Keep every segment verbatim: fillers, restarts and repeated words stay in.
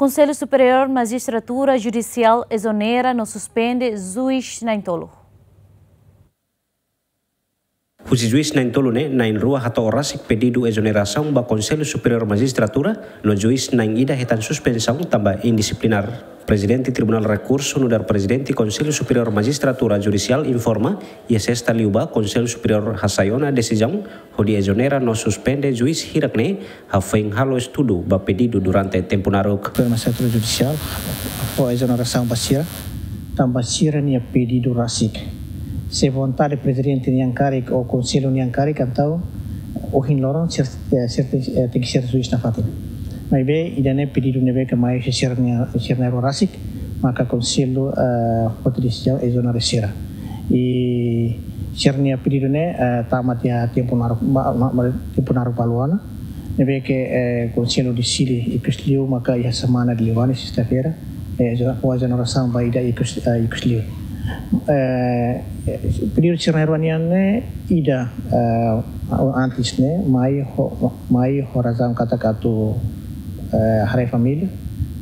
Konsellu Superiór Majistratura Judisiál ezonera no suspende juís na'in-tolu. Husi juís na'in-tolu ne'e, na'in-rua hato'o rasik pedidu ezonerasaun ba Konsellu Superiór Majistratura, no juís na'in-ida hetan suspensaun tanba indisiplinár. Prezidente Tribunál Rekursu nu'udar Prezidente Konsellu Superiór Majistratura Judisiál informa, iha Sesta liubá Konsellu Superiór hasai ona desizaun hodi ezonera no suspende juís hirak ne'e, hafoin halo estudu ba pedidu durante tempu naruk. Konsellu Majistratura Judisiál fó ezonerasaun ba sira, tanba sira-nia pedidu rasik. Se vontade Prezidente nian karik ou Konsellu nian karik, entaun ohin loron sira, eh, sira tenke, eh, tenke ser juís nafatin. Maibé ida-ne'e pedidu ne'ebé ke mai husi sira-nia, sira na'in-rua rasik, maka Konsellu, eh, foti desizaun ezonera sira. I sira-nia pedidu ne'e, eh, tama tiha tempu naruk, ma, ma, ma, tempu naruk balu ona. Ne'ebé ke, eh, Konsellu deside ikus liu maka iha semana ida liubá ne'e, sesta-feira, eh, ezone-, fó ezonerasaun ba ida ikus, eh, ikus liu. Eh, pedidu sira na'in-rua nian ne'e ida, eh, antes ne'e mai ho, mai ho razaun katak atu, eh, haree família,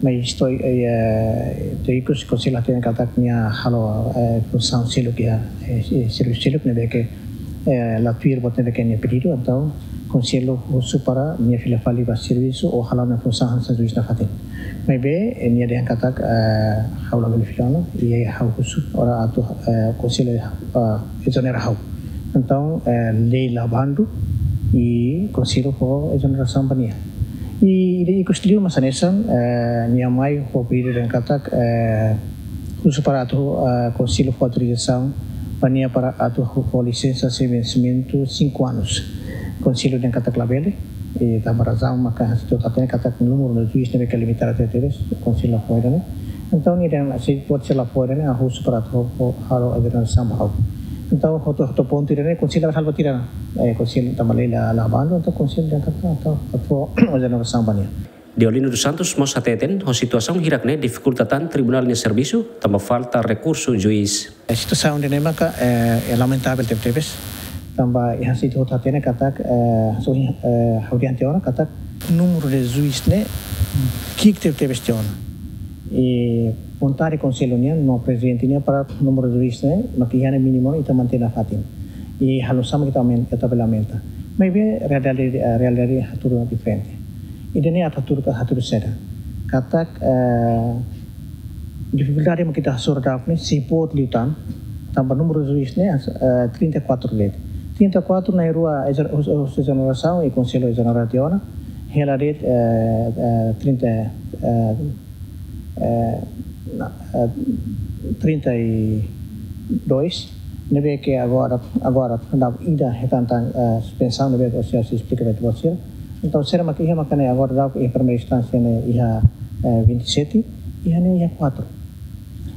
maibé isto, eh, to'o ikus Konsellu hatene katak nia halo, eh, funsaun seluk iha, eh, servisu seluk ne'ebé ke, eh, la tuir buat ne'ebé ke nia pedidu, entaun Konsellu husu para nia fila fali ba servisu ou hala'o nia funsaun hanesan juís nafatin. Maibé, eh, nia dehan katak, eh, ha'u labele fila ona, i ha'u husu para atu, eh, Konsellu, eh, ezonera ha'u. Entaun, eh, lei la bandu, i Konsellu fó ezonerasaun ba nia. I ida ikus liu mak hanesan, eh, nia mai ho pedidu dehan katak, eh, husu para atu, eh, Konsellu fó autorizasaun ba nia para atu fó lisensa sem vencimento cinco anos. Konsellu dehan katak labele, i tanba razaun maka hanesan ita hotu hatene katak númeru de juís ne'ebé ke limitadu tebes, Konsellu la fó ida-ne'e. Entaun nia dehan se buat sira la fó ida-ne'e, ha'u husu para atu fó, halo ezonerasaun ba ha'u. Entaun hotu, hotu pontu ida-ne'e Konsellu la halo buat ida-ne'e. Eh, Konsellu tanba lei la, la bandu, entaun Konsellu dehan katak, entaun atu fó ezonerasaun ba nia. Deolino dos Santos mós hateten, ho situasaun hirak ne'e difikulta tan tribunál nia servisu, tanba falta rekursu juís. Eh, situasaun ida-ne'e maka, eh, é lamentavel tebetebes. Tanba iha situ hotu hatene katak, eh, so, eh, ha'u dehan tiha ona katak númeru de juís ne'e ki'ik tebetebes tiha ona. I vontade Konsellu nian no Prezidente nian para númeru de juís ne'e maka iha ne'e mínimu ita mantein nafatin. I halo oinsá mak ita aumen-, ita bele aumenta. Maibé realidade, eh, realidade hatudu diferente. Ida-ne'e atu hatudu ka hatudu saida. Katak, eh, difikuldade mak ita hasoru daudaun ne'e, sei boot liután, tanba númeru juís ne'e, eh, trinta e quatro de'it. Trinta e quatro na'in-rua ezon-, os-, os-, ezonerasaun i Konsellu ezonera tiha ona, hela de'it, eh, eh, trinta, eh, eh, na, eh, trinta e dois, ne'ebé ke agora, agora daudaun ida hetan tan, eh, suspensaun ne'ebé ke ohin ha'u esplika ba ita-boot sira. Entaun, sira mak iha maka ne'e agora daudaun iha primeira instánsia ne'e iha, eh, vinte e sete, iha ne'e iha quatro.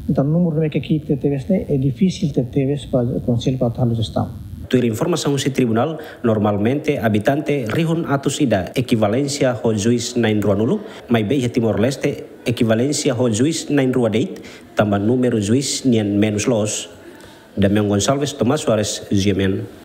Entaun, númeru ne'ebé ke ki'ik tebetebes ne'e, é difisil tebetebes ba Konsellu para atu halo jestaun. Tuir informasaun husi tribunál, normalmente abitante rihun atus ida ekivalénsia ho juís na'in-ruanulu, maibé iha Timor-Leste ekivalénsia ho juís na'in-rua de'it, tanba númeru juís nian menus loos. Damian Gonçalves, Tomás Soares, G M N.